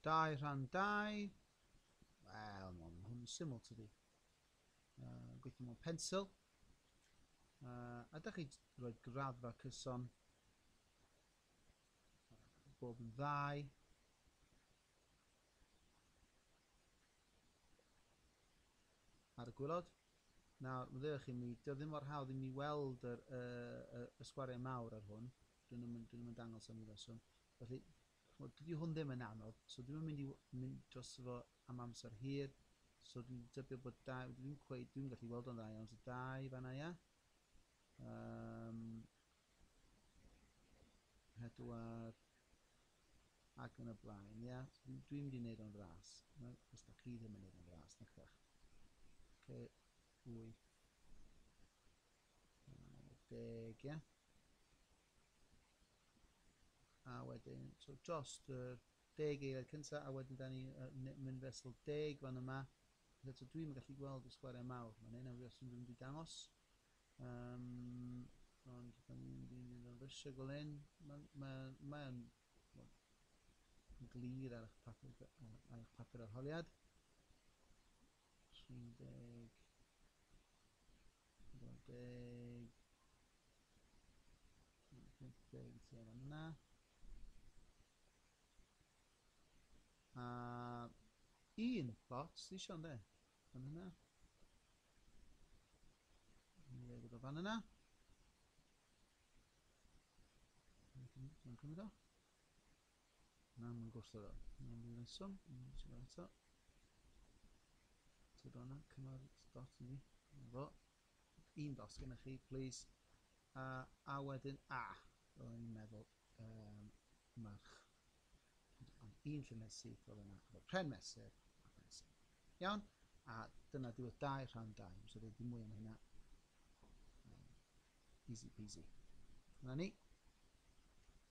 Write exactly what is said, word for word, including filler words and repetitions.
Dau rhan dau. Wel, mae hwn yn syml tydi. Uh, gweithio mewn pensil. Uh, a da chi rhoi graddfa cyson. Bob yn ddau. Ar y gwylod. Nawr, meddylwch chi mi, dio ddim mor hawdd i mi weld yr, y, y, y sgwariau mawr ar hwn. Dyn nhw'n dyn nhw'n dangos am reswm. Felly, dydy hwn ddim yn anodd, so dwi'm yn mynd i mynd dros fo am amser hir. So dwi'n dybio bod dau, dwi'n cweith, dwi'n gallu weld o'n dda iawn, so dau fan'na, ia. Um, pedwar, ac yn y blaen, ia. So dwi'n dwi mynd i wneud o'n fras. Os da chi ddim yn wneud o'n fras, nac ydych. Okay, wyth, deg, ia. A wedyn, so dros yr deg eiliad cyntaf, a wedyn da ni uh, mynd fesul deg fan yma. So dwi'n gallu gweld y sgwariau mawr. Mae'n hyn os dwi'n mynd i dangos. Um, ond da ni'n mynd i mynd o'n rysio fel hyn. Mae'n ma, ma ma glir ar eich papur, ar eich papur arholiad. tri deg, pedwar deg, pump deg tua fan yna. A un plot sydd eisiau, ynddo? Fan yna. Ni'n dweud o fan yna. Mae'n cymryd o. Na, mae'n gwrthod o. Mae'n rhyw reswm. Mae'n eto. Tyd o'na, cymryd dot i ni. Fo. Un dot gennych chi, please. A, a wedyn, a, fel o'n i'n meddwl, um, mae'r ond un llinell syth fel yna, efo pren mesur a pensil. Iawn? A dyna diwedd dau rhan dau. So dweud dim mwy am hynna. Um, easy peasy. Dyna ni.